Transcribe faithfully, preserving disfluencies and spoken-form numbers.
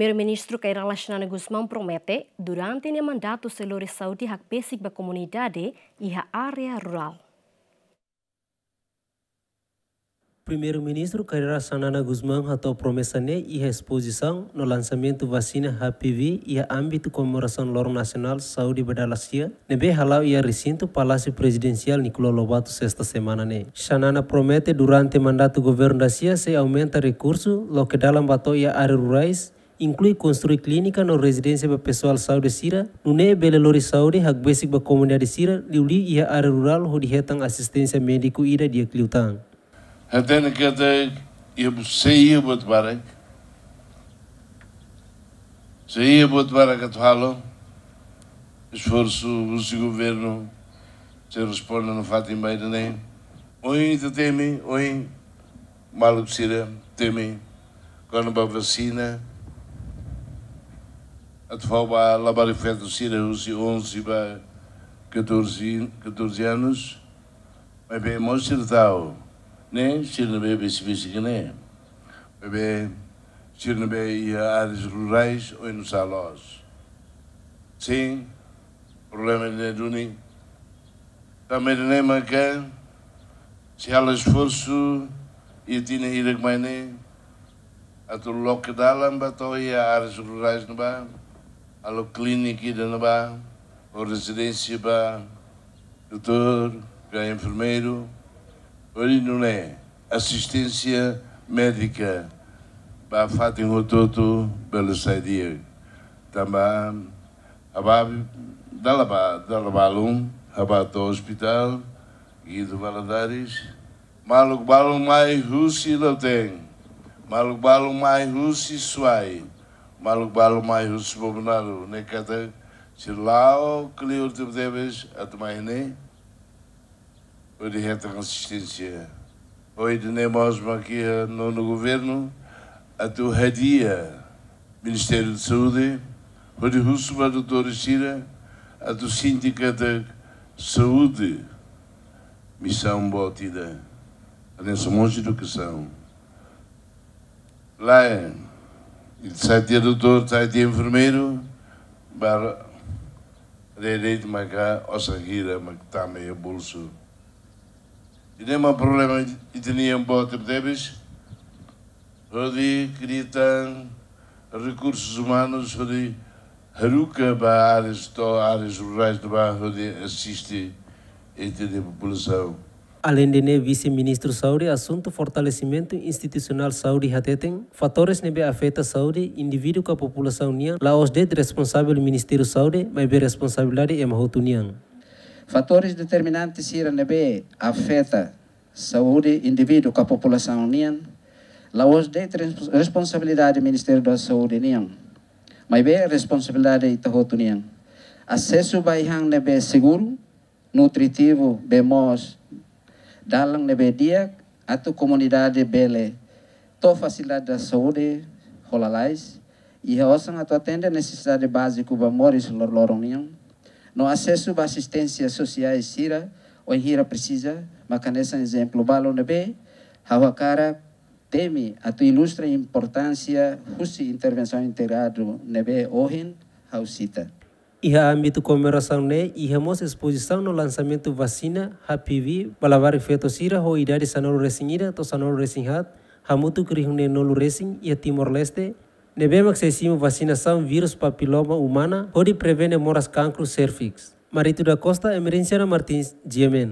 Primeiru-Ministru Kay Rala Xanana Gusmão promete, durante nia mandatu sei lori saúde hakbesik ba komunidade iha área rurál. Primeiru-Ministru Kay Rala Xanana Gusmão hato'o promesa ne'e iha espozisaun no lansamentu vasina H P V iha ámbitu komemorasaun Loron Nasionál Saúde ba Dala Sia, ne'ebé hala'o iha resintu Palásiu Prezidensiál Nicolau Lobato, sesta semana ne'e. Xanana promete durante mandatu governu dasia sei aumenta rekursu loke dalan ba to'o iha área rurais, inklui konstrui klínika no rezidénsia ba pesoál saúde sira, nune'e bele lori saúde hakbesik ba komunidade sira liuliu iha área rurál hodi hetan asisténsia médiku ida di'ak liután. Hatene katak iha bu-, sei iha buat barak. Sei iha buat barak atu halo. Esforsu husi governu sei responde nafatin ba ida-ne'e. Ohin ita temi, ohin maluk sira temi kona-ba vasina. Atu fó ba labarik feto sira husi onze ba catorze, catorze anos. Maibé mós sira ta'uk ne'e, sira ne'ebé besik-besik ne'e. Maibé sira ne'ebé iha áreas rurais oinsá loos. Sin, problema ne'e duni. Tanba ne'e maka sei halo esforsu iha tinan hirak mai ne'e atu loke dalan ba to'o iha áreas rurais ne'ebá, halo klínika ida ne'ebá, ou rezidénsia ba doutór, ba enfermeiru, hodi nune'e asisténsia médika ba fatin hotu-hotu bele sai di'ak. Tanba ababi dala ba, dala balun, ha'u bá to'o ospitál Guido Valadares, maluk balun mai husi Lautém, maluk balun mai husi Suai, maluk balun mai husi Bobonaro, ne'e katak sira la'o kleur tebetebes atu mai ne'e hodi hetan asisténsia. Ohin ne'e mós mak iha nonu governu atu hadi'a Ministériu Saúde, hodi husu ba doutór sira atu sente katak saúde misaun boot ida. Hanesan mós edukasaun. Lae, ita sai tiha doutór, sai tiha enfermeiru, ba haree de'it maka osan hira mak tama iha bolsu. Ida-ne'e mak problema ita-nian boot tebetebes, hodi kria tan rekursus umanus, hodi haruka ba áreas to'o áreas rurais ne'ebá hodi asiste ita-nia populasaun. Aleinde ne'e, Vise-Ministru Saúde asuntu fortalesimentu institusionál saúde hateten, fatores ne'ebé afeta saúde indivíduu ka populasaun nian la'ós de'it responsavel Ministériu Saúde, maibé responsabilidade ema hotu nian. Fatores determinante sira ne'ebé afeta saúde indivíduu ka populasaun nian la'ós de'it res-, responsabilidade Ministériu da Saúde nian, maibé responsabilidade ita hotu nian. Asesu ba ai-han ne'ebé seguru, nutritivu, bee moos, dalan ne'ebé di'ak, atu komunidade bele to'o fasilidade saúde ho lalais, iha osan atu atende nesesidade báziku ba moris loroloron nian, no asesu ba asisténsia sosiál sira wainhira presiza, maka hanesan ezemplu balu ne'ebé ha'u hakarak temi atu ilustra importánsia husi intervensaun integradu ne'ebé ohin ha'u sita. Iha ámbitu komemorasaun ne'e, iha mós espozisaun no lansamentu vasina H P V ba labarik feto sira ho idade sanulu-resin-ida to'o sanulu-resin-haat, hamutuk rihun neenulu-resin iha Timor-Leste, ne'ebé mak sei simu vasinasaun vírus papiloma umana hodi prevene moras kankru sérviks. Marito da Costa, Emerenciana Martins, G M N.